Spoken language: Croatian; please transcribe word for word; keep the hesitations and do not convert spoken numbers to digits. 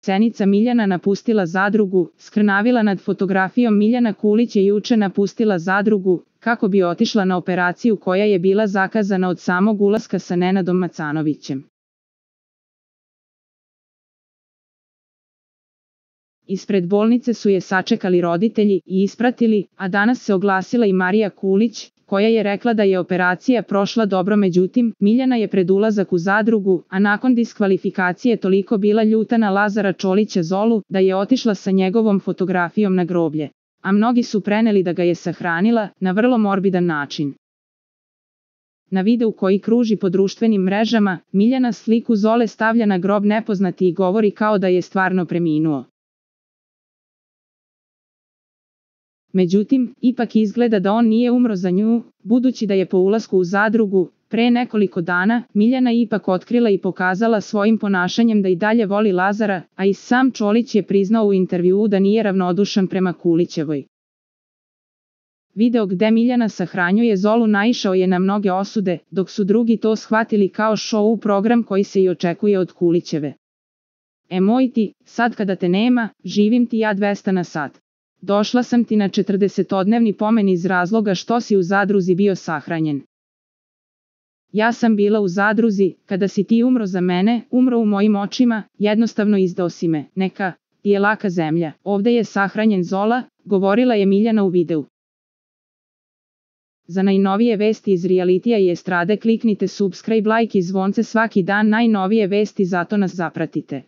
Cenica Miljana napustila zadrugu, skrnavila nad fotografijom. Miljana Kulić je juče napustila zadrugu, kako bi otišla na operaciju koja je bila zakazana od samog ulaska sa Nenadom Macanovićem. Ispred bolnice su je sačekali roditelji i ispratili, a danas se oglasila i Marija Kulić, koja je rekla da je operacija prošla dobro. Međutim, Miljana je pred ulazak u zadrugu, a nakon diskvalifikacije toliko bila ljuta na Lazara Čolića Zolu, da je otišla sa njegovom fotografijom na groblje. A mnogi su preneli da ga je sahranila, na vrlo morbidan način. Na videu koji kruži po društvenim mrežama, Miljana sliku Zole stavlja na grob nepoznati i govori kao da je stvarno preminuo. Međutim, ipak izgleda da on nije umro za nju, budući da je po ulasku u zadrugu, pre nekoliko dana, Miljana ipak otkrila i pokazala svojim ponašanjem da i dalje voli Lazara, a i sam Čolić je priznao u intervjuu da nije ravnodušan prema Kulićevoj. Video gde Miljana sahranjuje Zolu naišao je na mnoge osude, dok su drugi to shvatili kao show program koji se i očekuje od Kulićeve. E moj ti, sad kada te nema, živim ti ja dvesta na sat. Došla sam ti na četrdesetodnevni pomen iz razloga što si u zadruzi bio sahranjen. Ja sam bila u zadruzi, kada si ti umro za mene, umro u mojim očima, jednostavno izdao si me, neka, ti je laka zemlja, ovde je sahranjen Zola, govorila je Miljana u videu. Za najnovije vesti iz realitija i estrade kliknite subscribe, like i zvonce svaki dan. Najnovije vesti, zato nas zapratite.